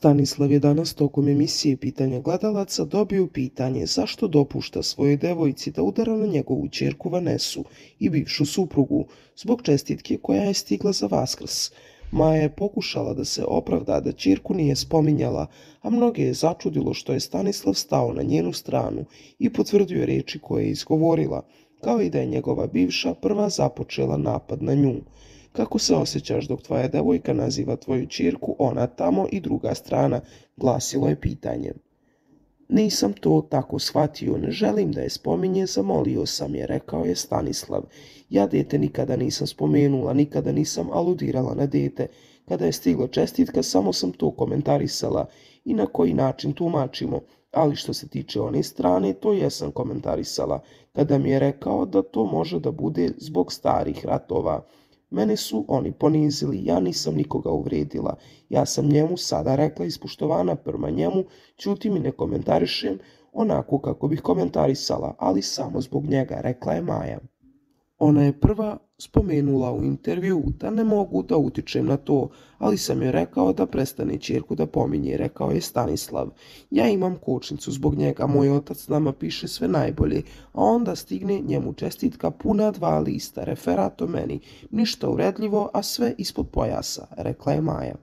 Stanislav je danas tokom emisije Pitanja gledalaca dobio pitanje zašto dopušta svojoj devojci da udara na njegovu ćerku Vanesu i bivšu suprugu zbog čestitke koja je stigla za Vaskrs. Maja je pokušala da se opravda da ćerku nije spominjala, a mnoge je začudilo što je Stanislav stao na njenu stranu i potvrdio reči koje je izgovorila, kao i da je njegova bivša prva započela napad na nju. Kako se osjećaš dok tvoja devojka naziva tvoju ćerku ona tamo i druga strana, glasilo je pitanje. Nisam to tako shvatio, ne želim da je spominje, zamolio sam je, rekao je Stanislav. Ja dete nikada nisam spomenula, nikada nisam aludirala na dete. Kada je stigla čestitka, samo sam to komentarisala i na koji način tumačimo. Ali što se tiče one strane, to jesam komentarisala, kada mi je rekao da to može da bude zbog starih ratova. Mene su oni ponizili, ja nisam nikoga uvredila. Ja sam njemu sada rekla ispoštovana prema njemu, ćutim i ne komentarišem onako kako bih komentarisala, ali samo zbog njega, rekla je Maja. Ona je prva spomenula u intervju da ne mogu da utičem na to, ali sam joj rekao da prestane ćerku da pominje, rekao je Stanislav. Ja imam kočnicu zbog njega, moj otac nama piše sve najbolje, a onda stigne njemu čestitka puna 2 lista, referat o meni, ništa uredljivo, a sve ispod pojasa, rekla je Maja.